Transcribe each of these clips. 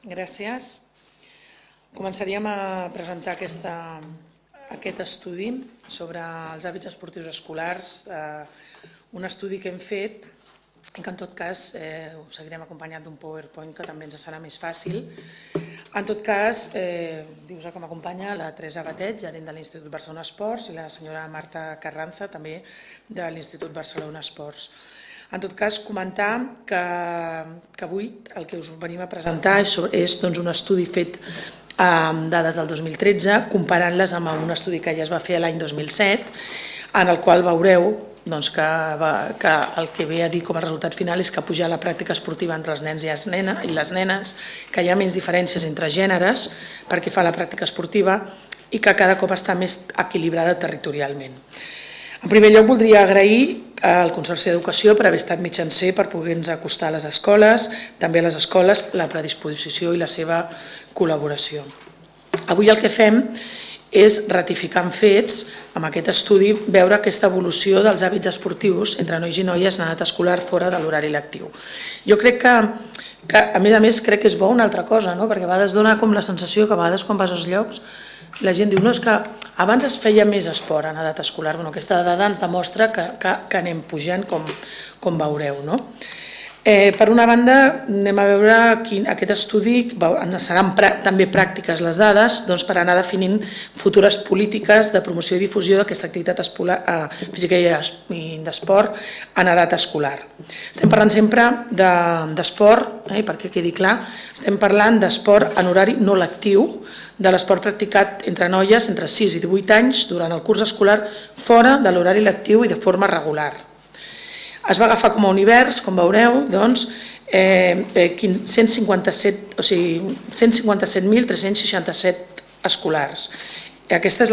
Gràcies. Començaríem a presentar aquest estudi sobre els hàbits esportius escolars, un estudi que hem fet i que en tot cas ho seguirem acompanyat d'un PowerPoint que també ens serà més fàcil. En tot cas, dius que m'acompanya la Teresa Batet, gerent de l'Institut Barcelona Esports, i la senyora Marta Carranza, també de l'Institut Barcelona Esports. En tot cas, comentar que avui el que us venim a presentar és un estudi fet amb dades del 2013, comparant-les amb un estudi que ja es va fer l'any 2007, en el qual veureu que el que ve a dir com a resultat final és que pujar la pràctica esportiva entre els nens i les nenes, que hi ha menys diferències entre gèneres perquè fa la pràctica esportiva i que cada cop està més equilibrada territorialment. En primer lloc, voldria agrair al Consorci d'Educació per haver estat mitjancer per poder-nos acostar a les escoles, també a les escoles, la predisposició i la seva col·laboració. Avui el que fem és ratificar en fets, amb aquest estudi, veure aquesta evolució dels hàbits esportius entre nois i noies en edat escolar fora de l'horari lectiu. Jo crec que, a més, crec que és bo una altra cosa, perquè a vegades dona com la sensació que a vegades quan vas als llocs la gent diu, no, és que abans es feia més esport en edat escolar. Aquesta dada ens demostra que anem pujant, com veureu. Per una banda, anem a veure aquest estudi, seran també pràctiques les dades per anar definint futures polítiques de promoció i difusió d'aquesta activitat física i d'esport en edat escolar. Estem parlant sempre d'esport, perquè quedi clar, estem parlant d'esport en horari no lectiu, de l'esport practicat entre noies entre 6 i 18 anys durant el curs escolar fora de l'horari lectiu i de forma regular. Es va agafar com a univers, com veureu, 157.367 escolars. Aquest és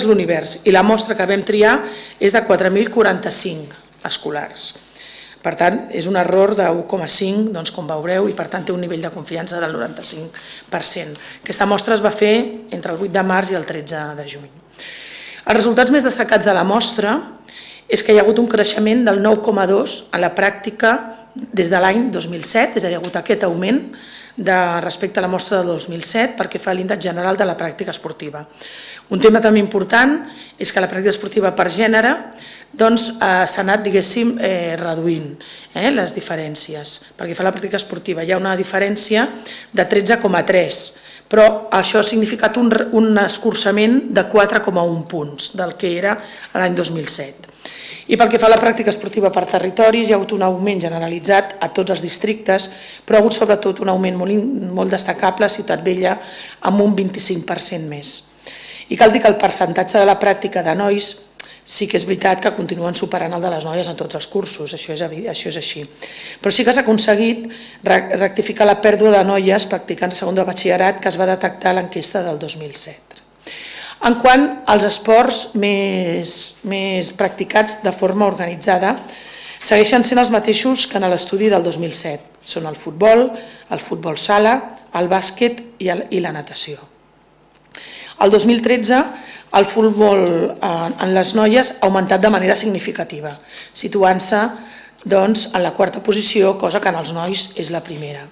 l'univers i la mostra que vam triar és de 4.045 escolars. Per tant, és un error de 1,5, com veureu, i per tant té un nivell de confiança del 95%. Aquesta mostra es va fer entre el 8 de març i el 13 de juny. Els resultats més destacats de la mostra és que hi ha hagut un creixement del 9,2 en la pràctica des de l'any 2007, és a dir, hi ha hagut aquest augment respecte a la mostra del 2007 perquè fa l'índex general de la pràctica esportiva. Un tema també important és que la pràctica esportiva per gènere s'ha anat, diguéssim, reduint les diferències. Perquè fa la pràctica esportiva hi ha una diferència de 13,3, però això ha significat un escurçament de 4,1 punts del que era l'any 2007. I pel que fa a la pràctica esportiva per territoris, hi ha hagut un augment generalitzat a tots els districtes, però ha hagut sobretot un augment molt destacable a Ciutat Vella amb un 25% més. I cal dir que el percentatge de la pràctica de nois sí que és veritat que continuen superant el de les noies en tots els cursos, això és així. Però sí que s'ha aconseguit rectificar la pèrdua de noies practicants de segon de batxillerat que es va detectar a l'enquesta del 2007. En quant als esports més practicats de forma organitzada, segueixen sent els mateixos que en l'estudi del 2007. Són el futbol sala, el bàsquet i la natació. El 2013, el futbol en les noies ha augmentat de manera significativa, situant-se en la quarta posició, cosa que en els nois és la primera.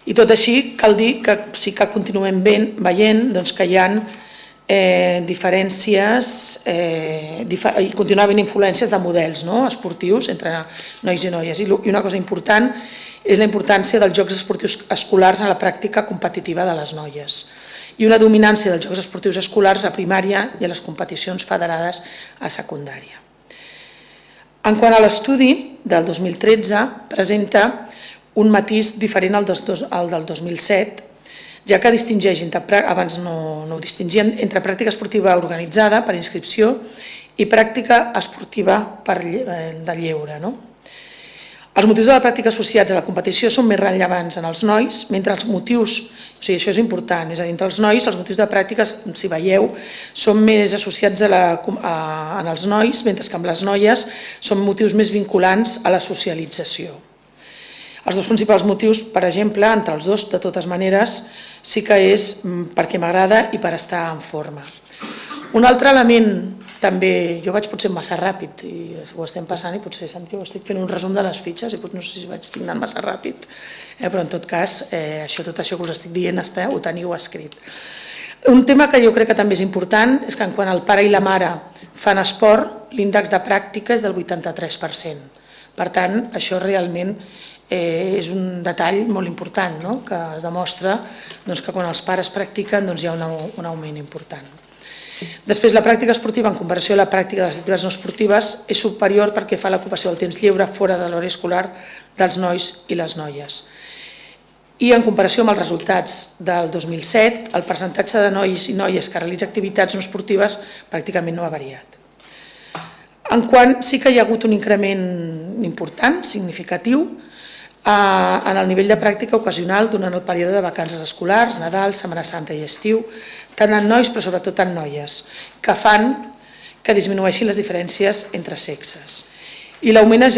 I tot així, cal dir que sí que continuem veient que hi ha diferències i continua havent influències de models esportius entre nois i noies. I una cosa important és la importància dels jocs esportius escolars en la pràctica competitiva de les noies i una dominància dels jocs esportius escolars a primària i a les competicions federades a secundària. En quant a l'estudi del 2013, presenta un matís diferent al del 2007, ja que distingeix, abans no ho distingien, entre pràctica esportiva organitzada per inscripció i pràctica esportiva de lleure. Els motius de la pràctica associats a la competició són més rellevants en els nois, mentre els motius, això és important, és a dir, entre els nois els motius de pràctica, si veieu, són més associats en els nois, mentre que amb les noies són motius més vinculants a la socialització. Els dos principals motius, per exemple, entre els dos, de totes maneres, sí que és perquè m'agrada i per estar en forma. Un altre element també jo vaig potser massa ràpid i ho estem passant i potser, Santi, estic fent un resum de les fitxes i no sé si estic anant massa ràpid, però en tot cas tot això que us estic dient ho teniu escrit. Un tema que jo crec que també és important és que quan el pare i la mare fan esport, l'índex de pràctica és del 83%. Per tant, això realment és un detall molt important, que es demostra que quan els pares practiquen hi ha un augment important. Després, la pràctica esportiva, en comparació a la pràctica de les activitats no esportives, és superior perquè fa l'ocupació del temps lliure fora de l'horari escolar dels nois i les noies. I en comparació amb els resultats del 2007, el percentatge de nois i noies que realitza activitats no esportives pràcticament no ha variat. En quant sí que hi ha hagut un increment important, significatiu, en el nivell de pràctica ocasional durant el període de vacances escolars, Nadal, Setmana Santa i estiu, tant en nois però sobretot en noies, que fan que disminueixin les diferències entre sexes. I l'augment és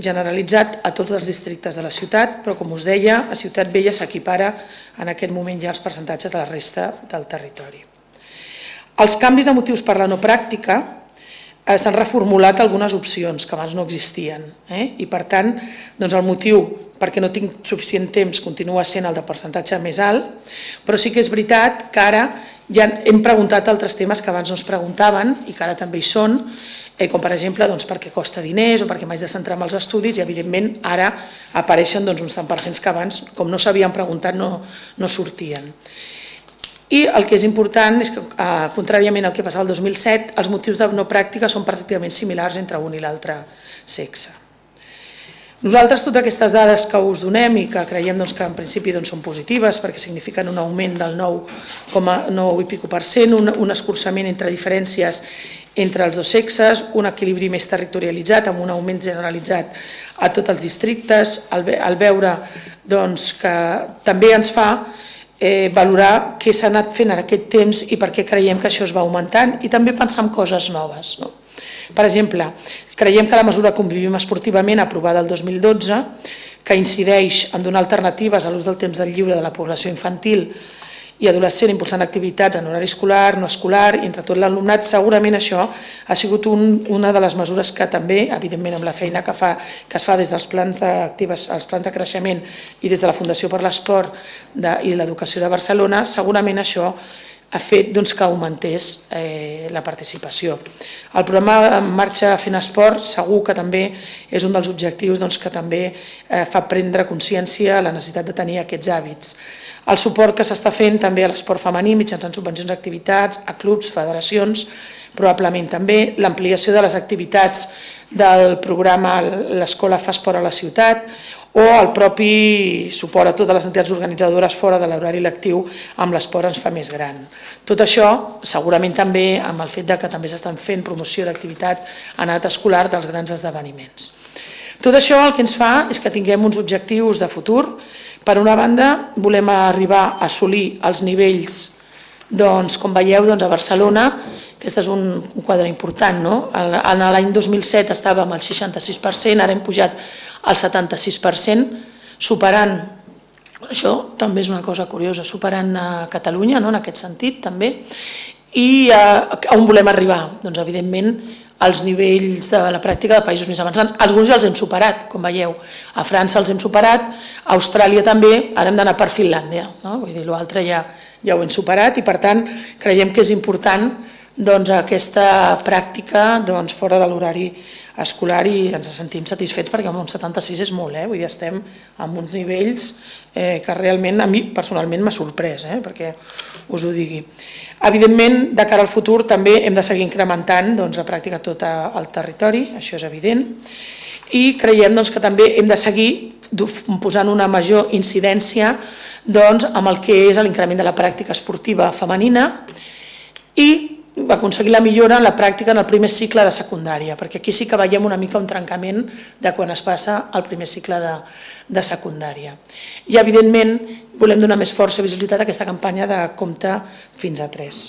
generalitzat a tots els districtes de la ciutat, però com us deia, a Ciutat Vella s'equipara en aquest moment ja els percentatges de la resta del territori. Els canvis de motius per la no pràctica s'han reformulat algunes opcions que abans no existien i per tant el motiu perquè no tinc suficient temps continua sent el de percentatge més alt, però sí que és veritat que ara ja hem preguntat altres temes que abans no es preguntaven i que ara també hi són, com per exemple perquè costa diners o perquè m'haig de centrar en els estudis i evidentment ara apareixen uns tant percents que abans, com no s'havien preguntat, no sortien. I el que és important és que, contràriament al que passava el 2007, els motius de no pràctica són pràcticament similars entre un i l'altre sexe. Nosaltres, totes aquestes dades que us donem i que creiem que en principi són positives perquè signifiquen un augment del 9,9%, un escurçament entre diferències entre els dos sexes, un equilibri més territorialitzat amb un augment generalitzat a tots els districtes, al veure que també ens fa valorar què s'ha anat fent en aquest temps i per què creiem que això es va augmentant i també pensar en coses noves. Per exemple, creiem que la mesura Convivim esportivament, aprovada el 2012, que incideix en donar alternatives a l'ús del temps del lliure de la població infantil i adolescent impulsant activitats en horari escolar, no escolar i entre tot l'alumnat, segurament això ha sigut una de les mesures que també, evidentment amb la feina que es fa des dels plans de creixement i des de la Fundació per l'Esport i l'Educació de Barcelona, segurament això ha fet que augmentés la participació. El programa En Marxa Fent Esport segur que també és un dels objectius que també fa prendre consciència a la necessitat de tenir aquests hàbits. El suport que s'està fent també a l'esport femení mitjançant subvencions d'activitats, a clubs, federacions, probablement també l'ampliació de les activitats del programa L'Escola fa esport a la ciutat o el propi suport a totes les entitats organitzadores fora de l'horari lectiu amb l'esport ens fa més gran. Tot això segurament també amb el fet que també s'estan fent promoció d'activitat en edat escolar dels grans esdeveniments. Tot això el que ens fa és que tinguem uns objectius de futur. Per una banda, volem arribar a assolir els nivells, com veieu, a Barcelona. Aquest és un quadre important. En l'any 2007 estàvem al 66%, ara hem pujat al 76%, superant, això també és una cosa curiosa, superant a Catalunya en aquest sentit també. I on volem arribar? Doncs evidentment als nivells de la pràctica de països més avançats. Alguns ja els hem superat, com veieu. A França els hem superat, a Austràlia també, ara hem d'anar per Finlàndia. Vull dir, l'altre ja ho hem superat i per tant creiem que és important aquesta pràctica fora de l'horari escolar i ens sentim satisfets perquè un 76 és molt, vull dir, estem en uns nivells que realment a mi personalment m'ha sorprès, perquè us ho digui. Evidentment, de cara al futur també hem de seguir incrementant la pràctica a tot el territori, això és evident, i creiem que també hem de seguir posant una major incidència amb el que és l'increment de la pràctica esportiva femenina i aconseguir la millora en la pràctica en el primer cicle de secundària, perquè aquí sí que veiem una mica un trencament de quan es passa al primer cicle de secundària. I, evidentment, volem donar més força i visibilitat a aquesta campanya de Compte fins a 3.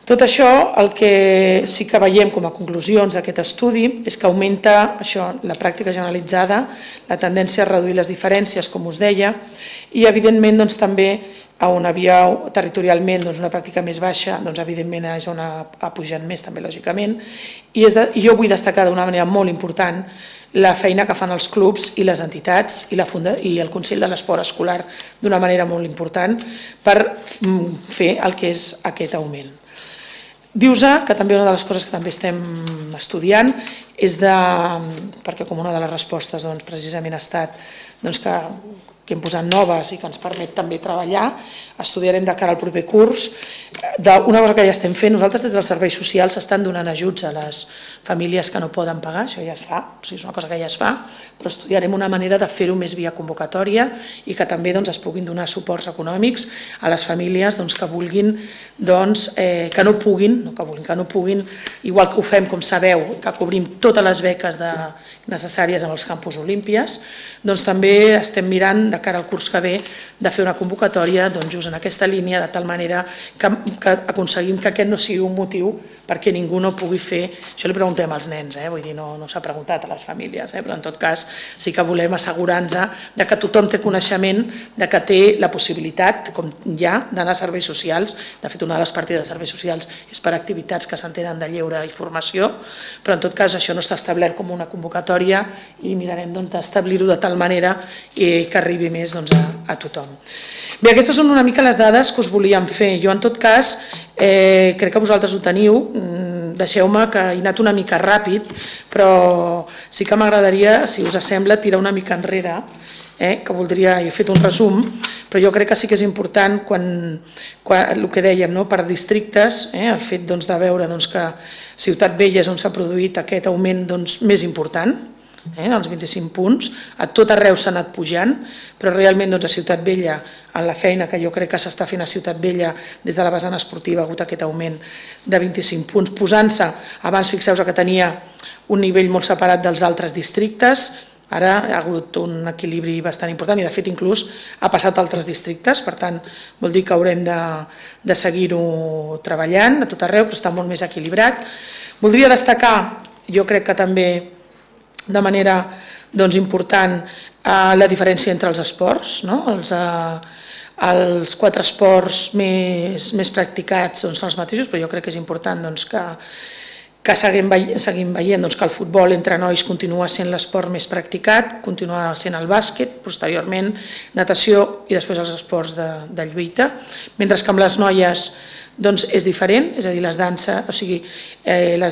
Tot això, el que sí que veiem com a conclusions d'aquest estudi és que augmenta això, la pràctica generalitzada, la tendència a reduir les diferències, com us deia, i evidentment també on havia territorialment una pràctica més baixa, evidentment és on ha pujat més també lògicament, i jo vull destacar d'una manera molt important la feina que fan els clubs i les entitats i el Consell de l'Esport Escolar d'una manera molt important per fer el que és aquest augment. Dius-se que també una de les coses que també estem estudiant és perquè com una de les respostes precisament ha estat que hem posat noves i que ens permet també treballar, estudiarem de cara al proper curs. Una cosa que ja estem fent, nosaltres des dels serveis socials estan donant ajuts a les famílies que no poden pagar, això ja es fa, és una cosa que ja es fa, però estudiarem una manera de fer-ho més via convocatòria i que també es puguin donar suports econòmics a les famílies que vulguin, que no puguin, igual que ho fem, com sabeu, que cobrim totes les beques necessàries amb els campus olímpies, també estem mirant de cara al curs que ve de fer una convocatòria just en aquesta línia, de tal manera que aconseguim que aquest no sigui un motiu perquè ningú no pugui fer, això li preguntem als nens, vull dir, no s'ha preguntat a les famílies, però en tot cas sí que volem assegurar-nos que tothom té coneixement que té la possibilitat, com hi ha, d'anar a serveis socials. De fet, una de les partides de serveis socials és per activitats que s'entenen de lleure i formació, però en tot cas això no està establert com una convocatòria i mirarem d'establir-ho de tal manera que arribi més a tothom. Bé, aquestes són una mica les dades que us volíem fer. Jo, en tot cas, crec que vosaltres ho teniu. Deixeu-me que he anat una mica ràpid, però sí que m'agradaria, si us sembla, tirar una mica enrere, que voldria, he fet un resum, però jo crec que sí que és important el que dèiem, per districtes, el fet de veure que Ciutat Vella és on s'ha produït aquest augment més important, els 25 punts, a tot arreu s'ha anat pujant, però realment a Ciutat Vella, en la feina que jo crec que s'està fent a Ciutat Vella des de la vessant esportiva, ha hagut aquest augment de 25 punts, posant-se, abans fixeu-vos que tenia un nivell molt separat dels altres districtes, ara ha hagut un equilibri bastant important i de fet inclús ha passat a altres districtes, per tant vol dir que haurem de seguir-ho treballant a tot arreu, però està molt més equilibrat. Voldria destacar, jo crec que també de manera important, la diferència entre els esports. Els 4 esports més practicats són els mateixos, però jo crec que és important que seguim veient que el futbol entre nois continua sent l'esport més practicat, continua sent el bàsquet, posteriorment natació i després els esports de lluita, mentre que amb les noies és diferent, és a dir, les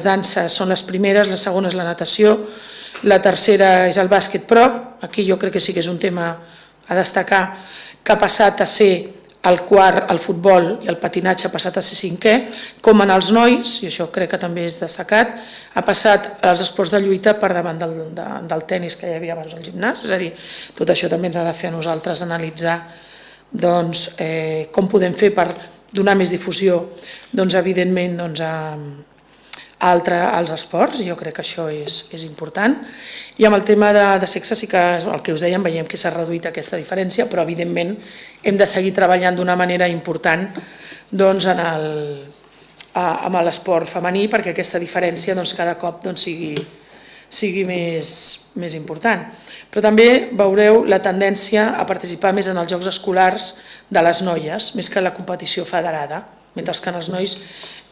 danses són les primeres, la segona és la natació, la tercera és el bàsquet, però aquí jo crec que sí que és un tema a destacar, que ha passat a ser el quart, el futbol i el patinatge ha passat a ser 5è, com en els nois, i això crec que també és destacat, ha passat als esports de lluita per davant del tenis que hi havia abans al gimnàs, és a dir, tot això també ens ha de fer a nosaltres analitzar com podem fer per donar més difusió, evidentment, als esports, i jo crec que això és important. I amb el tema de sexe sí que és el que us dèiem, veiem que s'ha reduït aquesta diferència, però evidentment hem de seguir treballant d'una manera important amb l'esport femení perquè aquesta diferència cada cop sigui més important. Però també veureu la tendència a participar més en els jocs escolars de les noies, més que en la competició federada, mentre que en els nois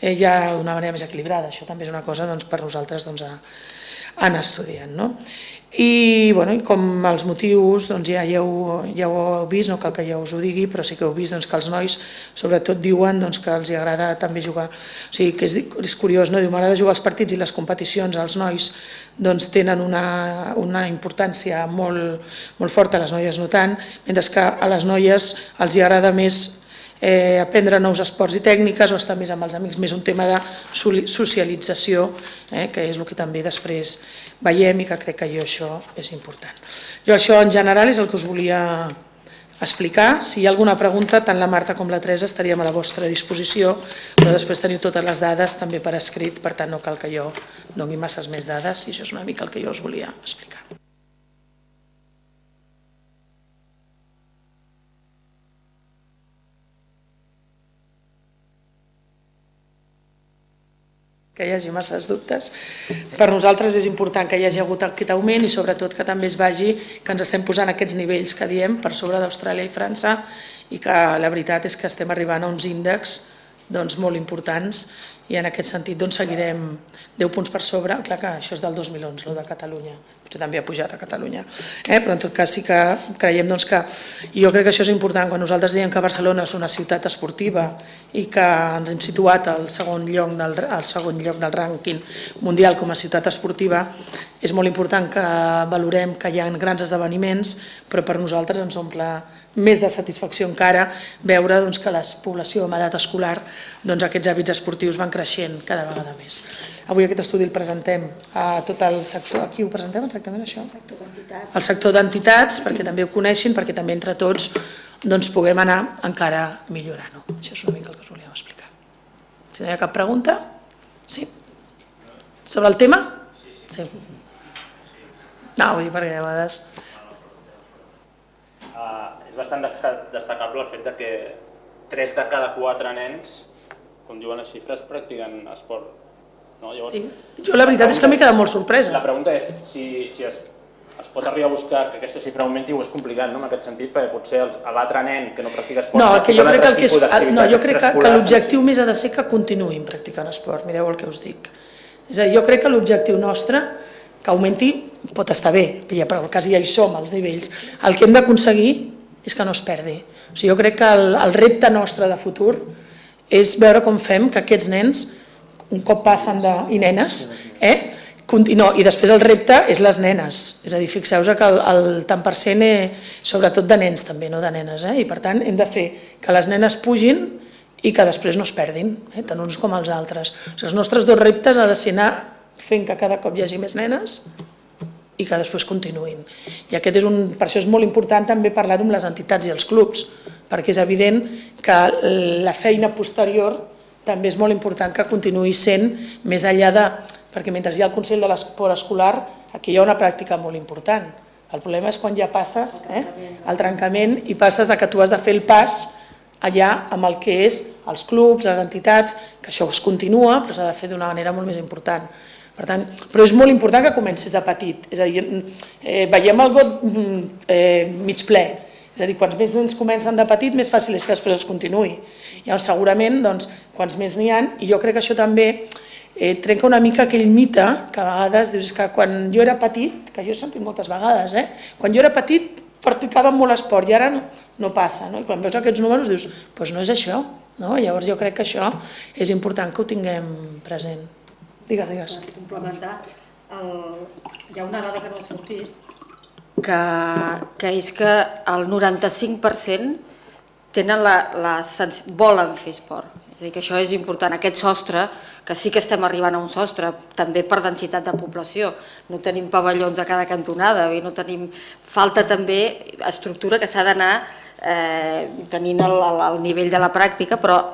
hi ha una manera més equilibrada. Això també és una cosa per nosaltres anar estudiant. I com els motius ja ho heu vist, no cal que jo us ho digui, però sí que heu vist que els nois sobretot diuen que els agrada també jugar, o sigui que és curiós, m'agrada jugar als partits i les competicions, els nois tenen una importància molt forta, les noies no tant, mentre que a les noies els agrada més aprendre nous esports i tècniques o estar més amb els amics, més un tema de socialització, que és el que també després veiem i que crec que això és important. Jo això en general és el que us volia explicar. Si hi ha alguna pregunta, tant la Marta com la Teresa estaríem a la vostra disposició, però després teniu totes les dades també per escrit, per tant no cal que jo doni masses més dades i això és una mica el que jo us volia explicar. que hi hagi masses dubtes. Per nosaltres és important que hi hagi hagut aquest augment i sobretot que també es vagi que ens estem posant aquests nivells que diem per sobre d'Austràlia i França i que la veritat és que estem arribant a uns índexs molt importants i en aquest sentit seguirem 10 punts per sobre. Clar que això és del 2011, el de Catalunya, potser també ha pujat a Catalunya, però en tot cas sí que creiem que, i jo crec que això és important, quan nosaltres diem que Barcelona és una ciutat esportiva i que ens hem situat al segon lloc del rànquing mundial com a ciutat esportiva, és molt important que valorem que hi ha grans esdeveniments, però per nosaltres ens omple més de satisfacció encara veure que la població amb edat escolar, aquests hàbits esportius van creixent cada vegada més. Avui aquest estudi el presentem a tot el sector. Aquí ho presentem exactament això? El sector d'entitats, perquè també ho coneixin, perquè també entre tots puguem anar encara millorant-ho. Això és una mica el que us volíem explicar. Si no hi ha cap pregunta? Sí? Sobre el tema? Sí. No, vull dir perquè a vegades... És bastant destacable el fet que 3 de cada 4 nens, com diuen les xifres, practiquen esport. Jo la veritat és que m'he quedat molt sorpresa. La pregunta és si es pot arribar a buscar que aquesta xifra augmenti o és complicat en aquest sentit, perquè potser l'altre nen que no practica esport... No, jo crec que l'objectiu més ha de ser que continuïn practicant esport, mireu el que us dic. És a dir, jo crec que l'objectiu nostre, que augmenti, pot estar bé, però quasi ja hi som, als nivells. El que hem d'aconseguir és que no es perdi. Jo crec que el repte nostre de futur és veure com fem que aquests nens, un cop passen i nenes, i després el repte és les nenes. És a dir, fixeu-vos que el tant per cent, sobretot de nens també, no de nenes, i per tant hem de fer que les nenes pugin i que després no es perdin, tant uns com els altres. Els nostres 2 reptes ha de ser anar fent que cada cop hi hagi més nenes i que després continuïn. I per això és molt important també parlar-ho amb les entitats i els clubs, perquè és evident que la feina posterior també és molt important que continuï sent més enllà de... Perquè mentre hi ha el Consell de l'Esport Escolar, aquí hi ha una pràctica molt important. El problema és quan ja passes el trencament i passes que tu has de fer el pas allà amb el que és els clubs, les entitats, que això es continua, però s'ha de fer d'una manera molt més important. Però és molt important que comencis de petit, és a dir, veiem el got mig ple, és a dir, quants més nens comencen de petit, més fàcil és que després es continuï. Llavors, segurament, quants més n'hi ha, i jo crec que això també trenca una mica aquell mite que a vegades dius que quan jo era petit, que jo he sentit moltes vegades, quan jo era petit practicava molt esport i ara no passa, i quan veus aquests números dius, doncs no és això, llavors jo crec que això és important que ho tinguem present. Digues. Per complementar, hi ha una dada que no ha sortit, que és que el 95% volen fer esport. És a dir, que això és important, aquest sostre, que sí que estem arribant a un sostre, també per densitat de població. No tenim pavellons a cada cantonada, falta també estructura que s'ha d'anar tenint el nivell de la pràctica, però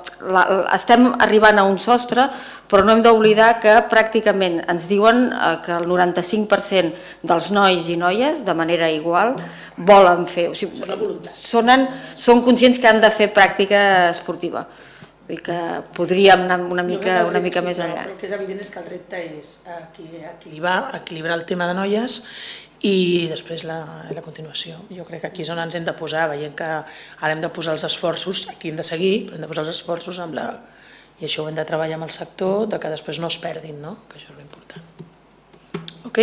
estem arribant a un sostre, però no hem d'oblidar que pràcticament ens diuen que el 95% dels nois i noies, de manera igual, volen fer, són conscients que han de fer pràctica esportiva. Vull dir que podríem anar una mica més enllà. El que és evident és que el repte és equilibrar el tema de noies i després la continuació. Jo crec que aquí és on ens hem de posar, veient que ara hem de posar els esforços, aquí hem de seguir, però hem de posar els esforços i això ho hem de treballar amb el sector, que després no es perdin, que això és l'important. Ok?